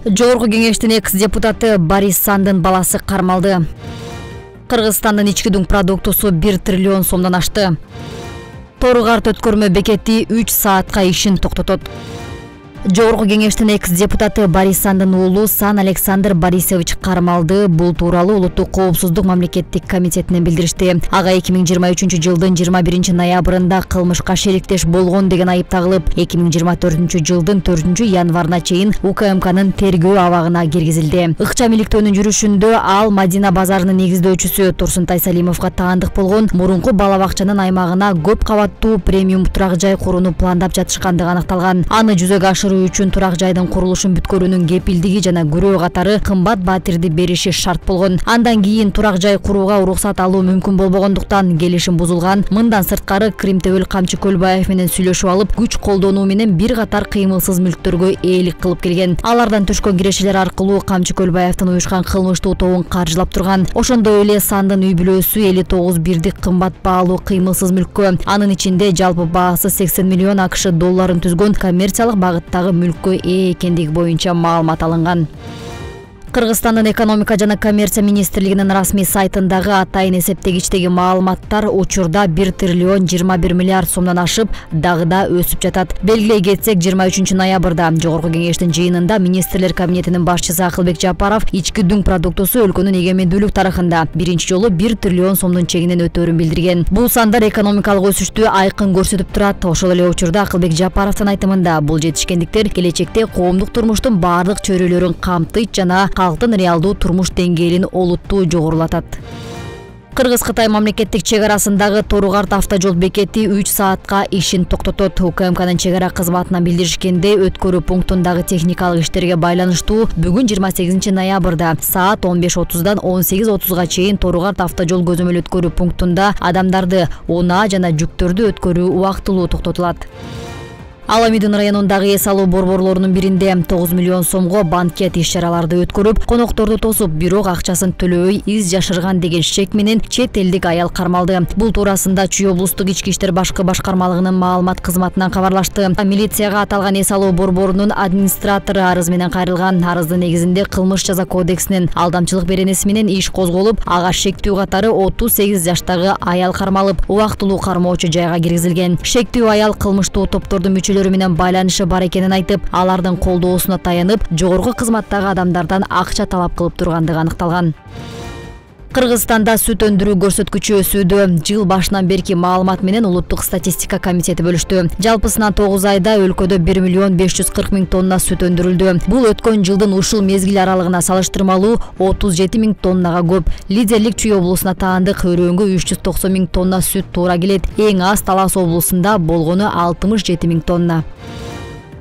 Жогорку кеңештин экс-депутаты Борис Сандын баласы кармалды. Кыргызстандын ички дуң продуктусу 1 триллион сомдон ашты. Торугарт өткөрмө бекети 3 саатка ишин токтотот. Жогорку кеңештин экс-депутаты Борис Сандын уулу Сан Александр Борисович кармалды. Бул тууралуу Улуттук коопсуздук мамлекеттик комитетинен билдиришти. Ага 2023-жылдын 21 ноябрында кылмышка шериктеш болгон деген айып тагылып, 2024-жылдын 4-январына чейин УКМКнын тергөө абагына киргизилди. Ыкчам иликтөөнүн жүрүшүндө ал Мадина базарынын негиздөөчүсү Турсунтай Салимовго таандык болгон, мурунку бала бакчанын аймагына көп кабаттуу премиум турак жай курууну пландап жатышкандыгы аныкталган. Аны жүзөгө ашыруу үчүн турак жайдын курулушун бүткөрүүнүн кепилдиги жана күрөө катары кымбат батирди бериши шарт болгон. Андан кийин турак жай курууга уруксат алуу мүмкүн болбогондуктан келишим бузулган. Мындан сырткары Кримтебел Камчы Көлбаев менен сүйлөшүп алып, күч колдонуу менен бир катар кыймылсыз мүлктөргө ээлик кылып келген. Алардан түшкөн кирешелер аркылуу Камчы Көлбаевдин уюшкан кылмыштуу тобун каржылап турган. Ошондой эле Сандын үй бүлөсү 59 бирдик кымбат баалуу кыймылсыз мүлккө, анын ичинде жалпы баасы 80 миллион АКШ долларын түзгөн коммерциялык багыттагы мүлккө ээ экендиги боюнча маалымат алынган. Кыргызстандын экономика жана коммерция министрлигинин расмий сайтындагы атайын эсептегичтеги маалыматтар учурда 1 триллион 21 миллиард сомдон ашып, дагы да өсүп жатат. Белгилей кетсек, 23 ноябрда Жогорку кеңештин жыйынында министрлер кабинетинин башчысы Акылбек Жапаров ички дуң продуктусу өлкөнүн эгемендүүлүк тарыхында биринчи жолу 1 триллион сомдун чегинен өтөөрүн билдирген. Бул сандар экономикалык өсүштү айкын көрсөтүп турат. Ошол эле учурда Акылбек Жапаровдун айтымында бул жетишкендиктер келечекте коомдук турмуштун баардык чөйрөлөрүн камтыйт жана калктын реалдуу турмуш деңгээлин олуттуу жогорулатат. Кыргыз-Кытай мамлекеттик чек арасындагы Торугарт автожол бекети 3 саатка ишин токтотот. УКМКнын чек ара кызматынан билдиришкендей, өткөрүү пунктундагы техникалык иштерге байланыштуу бүгүн 28 ноябрда саат 15:30дан 18:30га чейин Торугарт автожол көзөмөл өткөрүү пунктунда адамдарды, унаа жана жүктөрдү өткөрүү убактылуу токтотулат. Аламидин районундагы эс алуу борборлорунун биринде 9 миллион сомго банкет иш-чараларды өткөрүп, конокторду тосуп, бирок акчасын төлөбөй из жашырган деген шек менен чет элдик аял кармалды. Бул туурасында Чүй облустук ички иштер башкы башкармалыгынын маалымат кызматынан кабарлашты. Милицияга аталган эс алуу борборунун администратору арыз менен кайрылган. Арыздын негизинде кылмыш жаза кодексинин алдамчылык беренеси менен иш козголуп, ага шектүү катары 38 жаштагы аял кармалып, убактылуу кармоочу жайга киргизилген. Шектүү аял кылмыштуу топтордун менен байланышы бар экенин айтып, алардын колдоосуна таянып, жогорку кызматтагы адамдардан акча талап кылып тургандыгы аныкталган. Кыргызстанда сүт өндүрүү көрсөткүчү өсүүдө. Жыл башынан берки маалымат менен Улуттук статистика комитети бөлүштү. Жалпысынан 9 айда өлкөдө 1 миллион 540 миң тонна сүт өндүрүлдү. Бул өткөн жылдын ушул мезгил аралыгына салыштырмалуу 37 миң тоннага көп. Лидерлик Чүй облусуна таандык өрөөнгө 390 миң тонна сүт туура келет. Эң аз Талас облусунда болгону 67 миң тонна.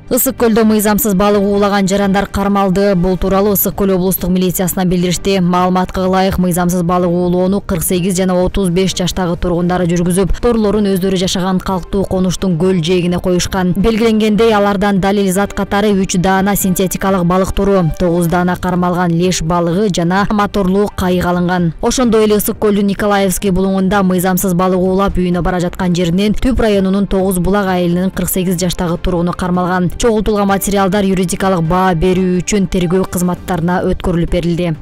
Ысык көлдө мыйзамсыз балык уулаган жарандар кармалды. Бул тууралуу Ысык көл облустук милициясынан билдиришти. Маалыматка ылайык, мыйзамсыз балык уулоону 48 жана 35 жаштагы тургундары жүргүзүп, торлорун өздөрү жашаган калктуу конуштун көл жээгине коюшкан. Белгиленгендей, алардан далил зат катары 3 даана синтетикалык балык туру, 9 даана кармалган леш балыгы жана моторлуу кайык алынган. Ошондой эле Ысык көлдүн Николаевский булуңунда мыйзамсыз балык уулап үйүнө бара жаткан жеринен Түп районунун 9 булак айылынын 48 жаштагы тургуну кармалган. Чогултулган материалдар юридикалык баа берүү үчүн тергөө кызматтарына өткөрүлүп берилди.